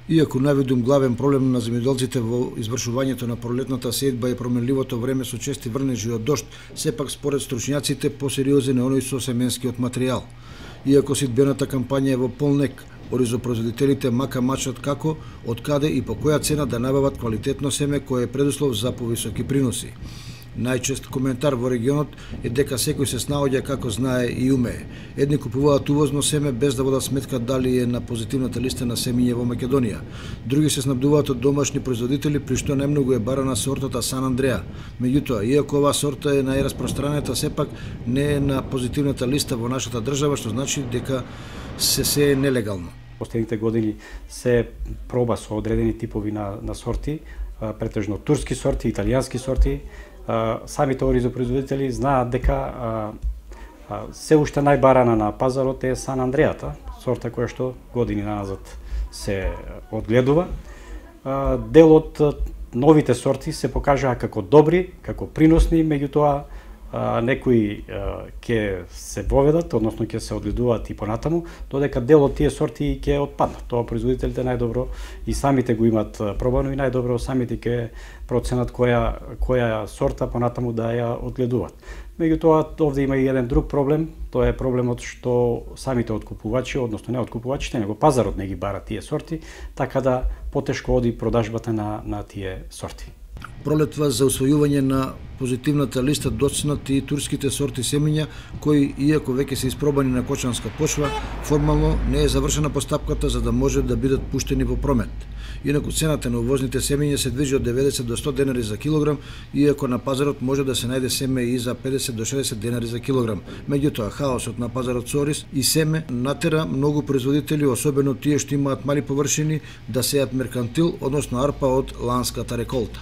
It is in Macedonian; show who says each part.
Speaker 1: Иако наведум главен проблем на земјоделците во извршувањето на пролетната сејдба е променливото време со чести врнежи од дожд, сепак според стручњаците посериозен е оној со семенскиот материјал. Иако сидбената кампања е во полнек, оризопроизводителите мака мачат како, од каде и по која цена да набават квалитетно семе кое е предуслов за повисоки приноси. Најчест коментар во регионот е дека секој се снаоѓа како знае и умее. Едни купуваат увозно семе без да водат сметка дали е на позитивната листа на семиња во Македонија. Други се снабдуваат од домашни производители, при што најмногу е барана сортата Сан Андреа. Меѓутоа, иако оваа сорта е најраспространета, сепак не е на позитивната листа во нашата држава, што значи дека се е нелегално.
Speaker 2: Последните години се проба со одредени типови на сорти, претежно турски сорти, италијански сорти. Самите оризопроизводители знаат дека се уште најбарана на пазарот е Сан Андреата, сорта која што години назад се одгледува. Дел од новите сорти се покажаа како добри, како приносни, меѓутоа некои ќе се воведат, односно ќе се одгледуваат и понатаму, додека дел од тие сорти ќе отпаднат. Тоа производителите најдобро и самите го имат пробано и најдобро самите ќе проценат која сорта понатаму да ја одгледуваат. Меѓутоа, овде има и еден друг проблем, тоа е проблемот што самите откупувачи, односно не откупувачите, него пазарот не ги бара тие сорти, така да потешко оди продажбата на тие сорти.
Speaker 1: Пролетва за усвојување на позитивната листа доцнат и турските сорти семиња, кои, иако веќе се испробани на кочанска почва, формално не е завршена постапката за да може да бидат пуштени во промет. Инаку цената на увозните семиња се движи од 90 до 100 денари за килограм, иако на пазарот може да се најде семе и за 50 до 60 денари за килограм. Меѓутоа, хаосот на пазарот со ориз и семе натера многу производители, особено тие што имаат мали површини, да сеат меркантил, односно арпа од ланската реколта.